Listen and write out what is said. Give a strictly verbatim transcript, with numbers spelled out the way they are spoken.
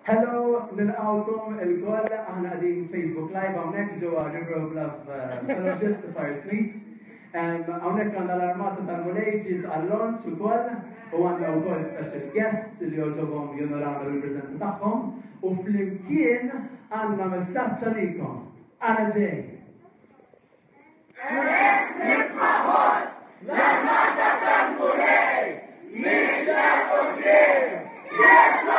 Hello, nilqgħukom ilkoll, aħna qegħdin Facebook Live hawnhekk ġewwa River of Love eh, Fellowship, Sapphire Suite. Hawnhekk għandna l-armata tal-Mulej ġiet għal-launch ukoll u għandna wkoll special guests li għoġobhom jonorawna bil-preżenza tagħhom u flimkien għandna messaġġ għalikom. Ara ġej. Nisma' ħoss l-armata tal-Mulej mixja quddiem Ġesù!